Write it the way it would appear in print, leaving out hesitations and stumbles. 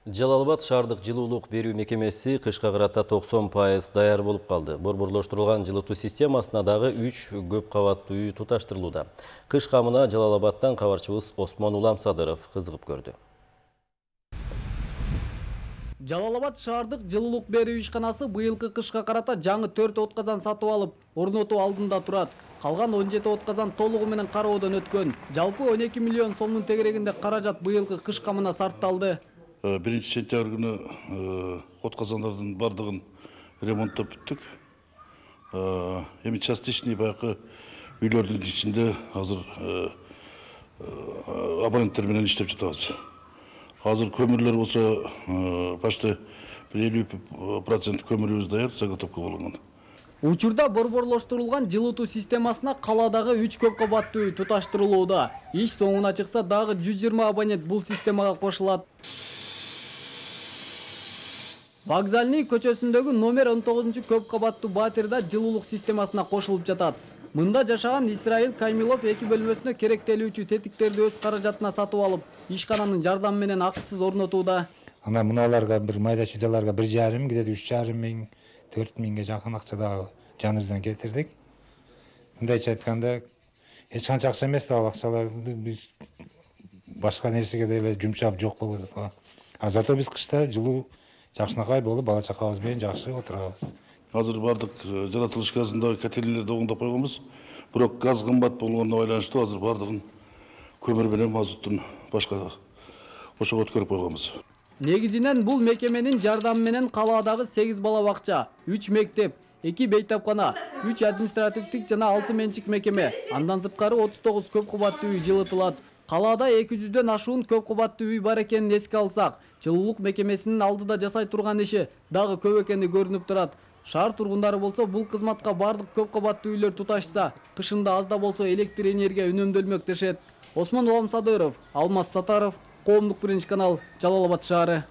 Жалал-Абад шаардык жылуулук берүү мекемеси кышка карата 90% даяр болуп калды. Борборлоштурулган жылытуу системасына дагы 3 көп кабаттуу үй туташтырылууда. Кыш камына Жалал-Абадтан кабарчыбыз Осмон Уламсадыров кызыгып көрдү. Жалал-Абад шаардык жылуулук берүү ишканасы быйылкы кышка карата жаңы 4 отказан сатып алып, орнотуу алдында турат. Калган 17 отказан толугу менен кароодон өткөн. Жалпы 12 миллион сомдун тегерегинде каражат быйылкы кыш камына сарпталды. 1 сентябрь күнү отказандардын бардыгын ремонттоп бүттүк. Эми частичный баягы үйлөрдүн ичинде азыр абоненттер менен иштеп жатабыз. Азыр көмүрлөр болсо почти 50% көмүрүбүз даяр, заготовка болгон. Учурда борборлоштурулган жылытуу системасына калаадагы 3 көп кабаттуу үй туташтырылууда. Иш соңуна чыкса дагы 120 абонент бул системага кошулат. Вокзальный көчөсүндөгү номер 19 көп кабаттуу батирда жылуулук системасына кошулуп жатат. Мында жашаган Исраил Каймилов 2 бөлмөсүнө керектелүүчү тетиктерди өз каражатына сатып алып, ишкананын жардамы менен акысыз орнотууда. Ана муналарга бир майда чүйдаларга 1,5 где-то 3,5 миң, 4 миңге жакын акчада жаныбыздан кетирдик. Мындайча айтканда, эч канча акча эмес да, ал акчаларды биз башка нерсеге деле жумшап жок болуп жатат. А зато биз кышта жылуу жакшынакай болуп, бала чакабыз менен жакшы отурабыз. Азыр бардык жаратылыш газындагы котелдерди оңдоп койгонбуз. Бирок газ кымбат болгонуна байланыштуу азыр бардыгын көмүр менен мазуттун башка ошого өткөрүп койгонбуз. Негизинен бул мекеменин жардамы менен калаадагы 8 бала бакча, 3 мектеп, 2 бейтапкана, 3 административдик жана 6 менчик мекеме, андан сырткары 39 көп кабаттуу үй жылытылат. Калаада 200дөн ашуун көп кабаттуу үй бар экенин эске алсак, жылуулук мекемесинин алдыда жасай турган иши дагы көп экени көрүнүп турат. Шаар тургундары болсо бул кызматка бардык көп кабаттуу үйлөр туташса, кышында аз да болсо электр энергия үнөмдөлмөк дешет. Осмон Уламсадыров, Алмаз Сатаров, Коомдук биринчи канал, Жалал-Абад шаары.